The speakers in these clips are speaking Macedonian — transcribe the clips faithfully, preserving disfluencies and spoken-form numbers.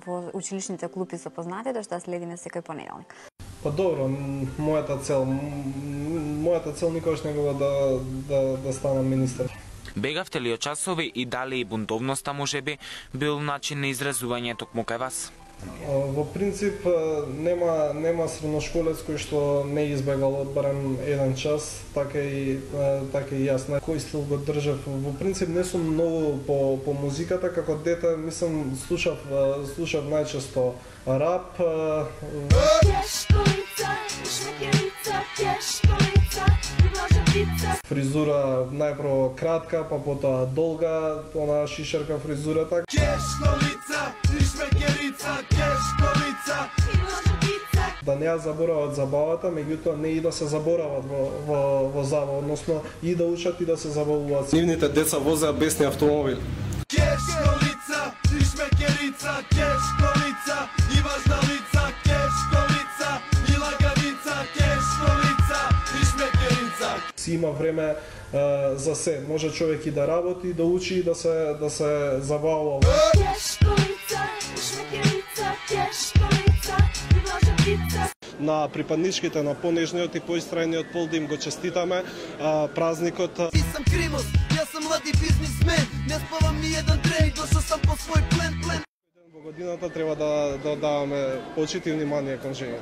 во училишните клупи со познатите, што следиме секој понеделник. Па добро, мојата цел, мојата цел никогаш не била да, да, да станам министер. Бегавте ли од часови и дали и бунтовноста можеби бил начин на изразување токму кај вас? Во принцип нема нема средношколец кој што не избегал барем еден час, така и така и јас. На кој стил го држав? Во принцип не сум многу по по музиката, како дете мислам слушав слушав најчесто рап. Фризура најпрво кратка, па потоа долга, она шишерка фризура така. Да не ја заборават забавата, меѓутоа не и да се заборават во, во, во забава, односно и да учат и да се забавуваат. Нивните деца возеа бесни автомобили. Кеш колица, шмекерица, кеш колица, и важна лица, кеш колица, и лаганица, кеш колица, и шмекерица. Си има време uh, за се, може човек и да работи, и да учи, и да се, да се забавува. Кеш колица, шмекерица, кеш колица, и важна лица. На припадничките на понежниот и поистрајниот пол да им го честитаме а, празникот. Ти сам Кримос, јас сам млади бизнисмен, не спавам ни еден ден, дошол сам по свој плен, плен. Во годината треба да, да даваме почит и внимание кон жените.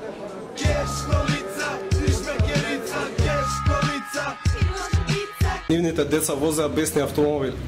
Кеш колица, шмекерица, кеш колица, нивните деца возеа бесни автомобили.